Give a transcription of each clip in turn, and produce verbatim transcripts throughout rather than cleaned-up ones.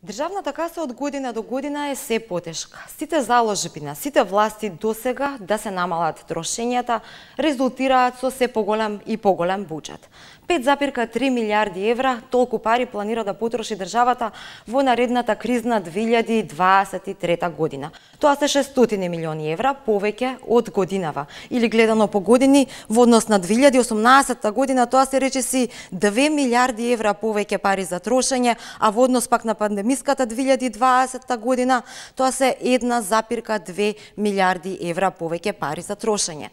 Државната каса од година до година е се потешка. Сите заложби на сите власти досега да се намалат трошењата резултираат со се поголем и поголем буџет. пет запирка три милијарди евра, толку пари планира да потроши државата во наредната кризна две илјади дваесет и трета година. Тоа се шестстотини милиони евра повеќе од годинава. Или гледано по години, во однос на две илјади осумнаесета година, тоа се речиси две милијарди евра повеќе пари за трошење, а во однос пак на пандемиската две илјади дваесета година, тоа се една запирка две милијарди евра повеќе пари за трошење.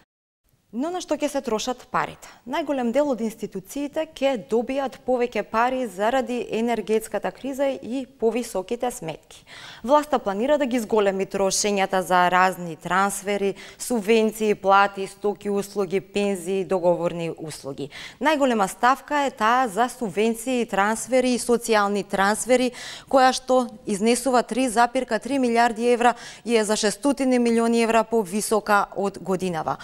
Но на што ќе се трошат парите? Најголем дел од институциите ќе добијат повеќе пари заради енергетската криза и повисоките сметки. Власта планира да ги зголеми трошењата за разни трансфери, субвенции, плати, стоки, услуги, пензии, договорни услуги. Најголема ставка е таа за субвенции, трансфери и социјални трансфери, која што изнесува три запирка три милијарди евра и е за шестстотини милиони евра повисока од годинава.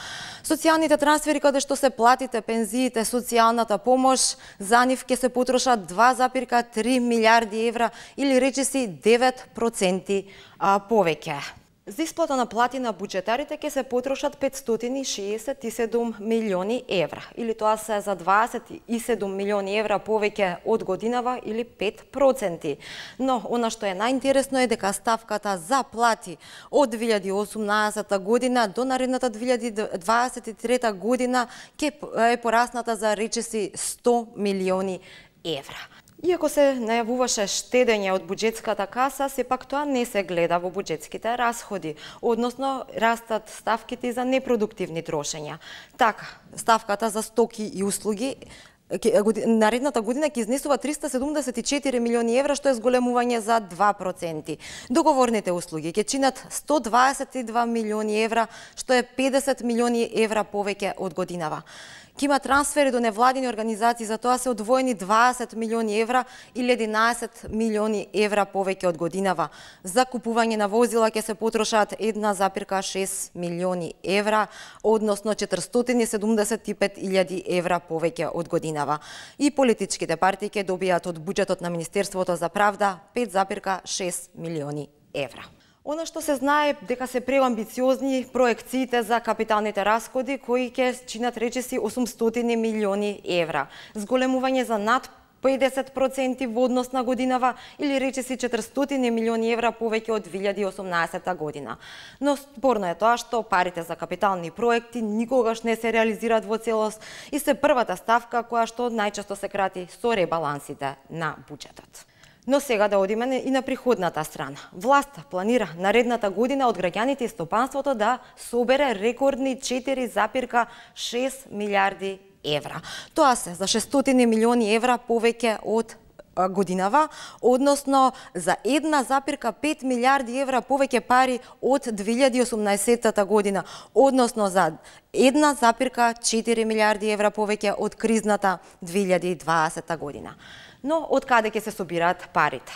Социјалните трансфери каде што се платите, пензиите, социјалната помош, за нив ќе се потрошат два запирка три милијарди евра или речиси девет проценти повеќе. За исплата на плати на буџетарите ќе се потрошат петстотини шеесет и седум милиони евра, или тоа се за дваесет и седум милиони евра повеќе од годинава или пет проценти. Но она што е најинтересно е дека ставката за плати од две илјади осумнаесета година до наредната две илјади дваесет и трета година ќе е порасната за речиси сто милиони евра. Иако се најавуваше штедење од буџетската каса, сепак тоа не се гледа во буџетските расходи, односно растат ставките за непродуктивни трошења. Така, ставката за стоки и услуги наредната година ќе изнесува триста седумдесет и четири милиони евра, што е зголемување за два проценти. Договорните услуги ќе чинат сто дваесет и два милиони евра, што е педесет милиони евра повеќе од годинава. Ке има трансфери до невладини организации, за тоа се одвоени дваесет милиони евра или единаесет милиони евра повеќе од годинава. За купување на возила ќе се потрошат една запирка шест милиони евра, односно четиристотини седумдесет и пет илјади евра повеќе од годинава. И политичките партии ќе добијат од буџетот на Министерството за правда пет запирка шест милиони евра. Она што се знае дека се преамбициозни проекциите за капиталните расходи кои ќе чинат речиси осумстотини милиони евра. Зголемување за над педесет проценти во однос на годинава или речиси четиристотини милиони евра повеќе од две илјади осумнаесета година. Но спорно е тоа што парите за капитални проекти никогаш не се реализираат во целост и се првата ставка која што најчесто се крати со ребалансите на буџетот. Но сега да одиме и на приходната страна. Власта планира наредната година од граѓаните и стопанството да собере рекордни четири запирка шест милијарди евра. Тоа се за шестстотини милиони евра повеќе од годинава, односно за една запирка пет милијарди евра повеќе пари од две илјади осумнаесета година, односно за една запирка четири милијарди евра повеќе од кризната две илјади дваесета година. Но од каде ќе се собираат парите?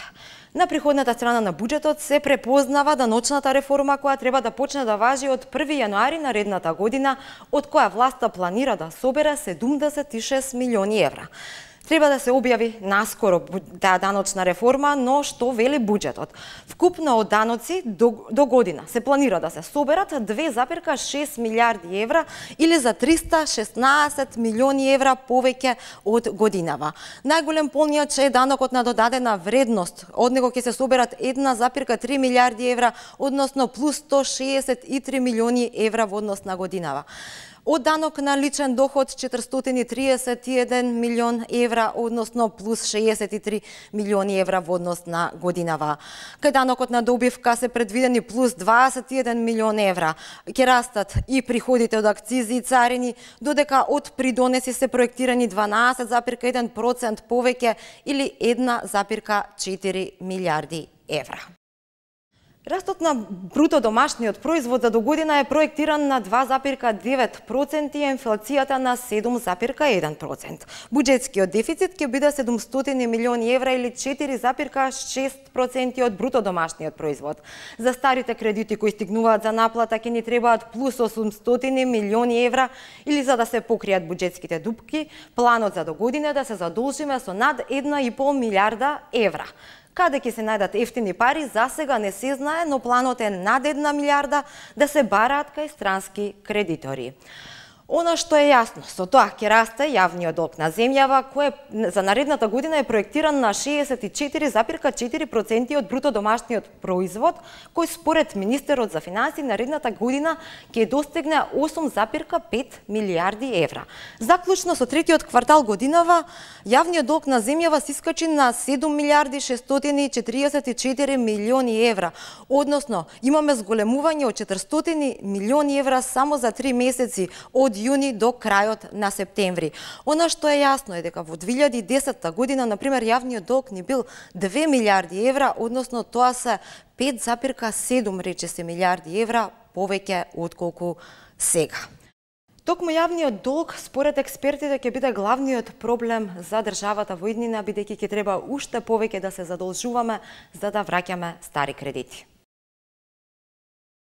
На приходната страна на буџетот се препознава даночната реформа која треба да почне да важи од први јануари наредната година, од која власта планира да собере седумдесет и шест милиони евра. Треба да се објави наскоро таа даночна реформа, но што вели буџетот? Вкупно од даноци до, до година се планира да се соберат две запирка шест милијарди евра или за триста шеснаесет милиони евра повеќе од годинава. Најголем полнијач е данокот на додадена вредност. Од него ќе се соберат една запирка три милијарди евра, односно плюс сто шеесет и три милиони евра во однос на годинава. Од данок на личен доход четиристотини триесет и еден милион евра, односно плюс шеесет и три милиони евра во однос на годинава. Кај данокот на добивка се предвидени плюс дваесет и еден милион евра. Ќе растат и приходите од акцизи и царини, додека од придонеси се проектирани дванаесет запирка еден процент повеќе или една запирка четири милијарди евра. Растот на бруто домашниот производ за до година е проектиран на два запирка девет проценти и инфлацијата на седум запирка еден процент. Буџетскиот дефицит ќе биде седумстотини милиони евра или четири запирка шест проценти од бруто домашниот производ. За старите кредити кои стигнуваат за наплата ќе ни требаат плюс осумстотини милиони евра или за да се покријат буџетските дупки, планот за до година е да се задолжиме со над една и пол милијарда евра. Каде ќе се најдат ефтини пари, за сега не се знае, но планот е над една милиарда да се бараат кај странски кредитори. Она што е јасно, со тоа ќе расте јавниот долг на земјава, кој за наредната година е проектиран на шеесет и четири запир четири проценти од бруто домашниот производ, кој според министерот за финансии наредната година ќе достигне осум запир пет милијарди евра. Заклучно со третиот квартал годинава, јавниот долг на земјава се искачи на седум милијарди шестстотини и четириесет и четири милиони евра, односно имаме зголемување од четиристотини милиони евра само за три месеци од јуни до крајот на септември. Она што е јасно е дека во две илјади и десетта година, например, јавниот долг ни бил две милијарди евра, односно тоа се пет запир седум речиси милијарди евра повеќе отколку сега. Токму јавниот долг, според експертите, ќе биде главниот проблем за државата во иднина, бидејќи ќе треба уште повеќе да се задолжуваме за да враќаме стари кредити.